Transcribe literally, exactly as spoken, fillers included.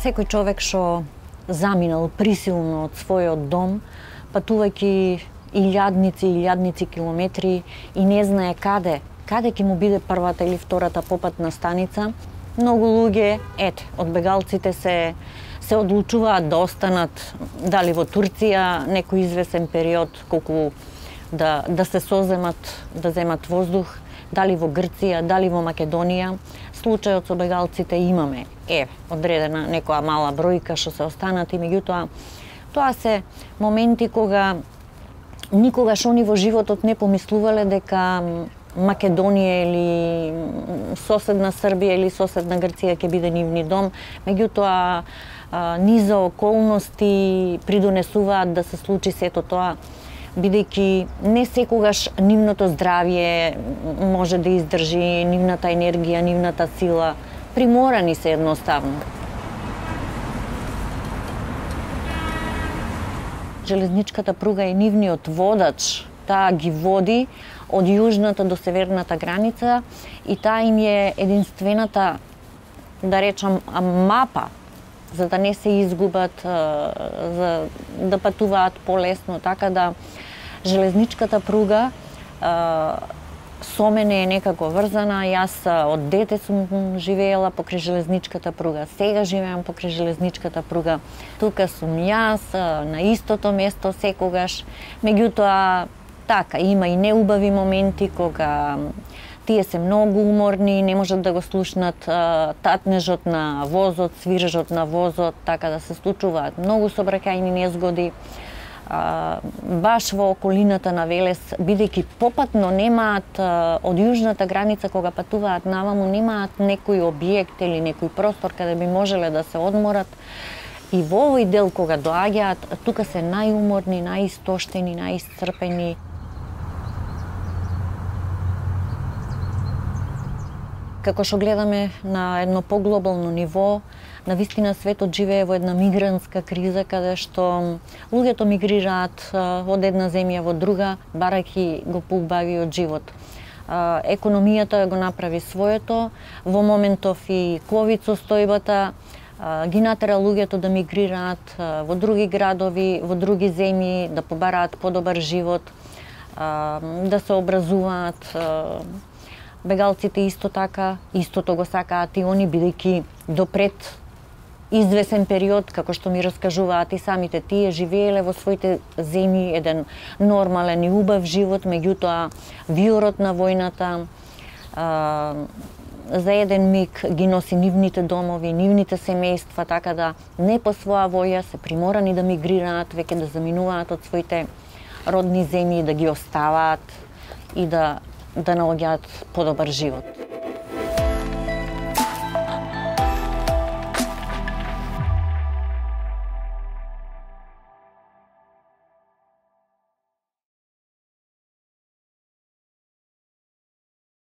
Секој човек што заминал присилно од својот дом, патувајќи илјадници и илјадници километри и не знае каде, каде ќе му биде првата или втората попатна станица, многу луѓе, ете, од бегалците се се одлучуваат да останат дали во Турција некој извесен период, колку да да се соземат, да земат воздух, дали во Грција, дали во Македонија. Случајот со бегалците имаме, е, одредена некоја мала бројка што се останати, меѓутоа тоа се моменти кога никогаш они во животот не помислувале дека Македонија или соседна Србија или соседна Грција ќе биде нивни дом, меѓутоа низа околности придонесуваат да се случи сето тоа, бидејќи не секогаш нивното здравје може да издржи, нивната енергија, нивната сила, приморани се едноставно. Железничката пруга е нивниот водач, таа ги води од јужната до северната граница и таа им е единствената, да речам, мапа, за да не се изгубат, за да патуваат полесно, така да железничката пруга со мене е некако врзана. Јас од дете сум живеела покрај железничката пруга, сега живеам покрај железничката пруга. Тука сум јас, на истото место секогаш, меѓутоа така, има и неубави моменти кога тие се многу уморни, не можат да го слушнат татнежот на возот, свирежот на возот, така да се случуваат многу сообраќајни незгоди. Баш во околината на Велес, бидејќи попатно немаат од јужната граница кога патуваат наваму, немаат некој објект или некој простор каде би можеле да се одморат. И во овој дел кога доаѓаат, тука се најуморни, најистоштени, најисцрпени. Како што гледаме на едно поглобално ниво, навистина светот живее во една мигрантска криза, каде што луѓето мигрираат од една земја во друга, барајќи го поубавиот живот. Економијата го направи своето, во моментов и ковид состојбата ги натера луѓето да мигрираат во други градови, во други земји, да побараат подобар живот, да се образуваат. Бегалците исто така, истото го сакаат и они, бидејќи допред извесен период, како што ми раскажуваат и самите тие, живееле во своите земји еден нормален и убав живот, меѓутоа виорот на војната а, за еден миг ги носи нивните домови, нивните семејства, така да не по своја воја се приморани да мигрираат, веќе да заминуваат од своите родни земји, да ги оставаат и да да наоѓаат подобар живот.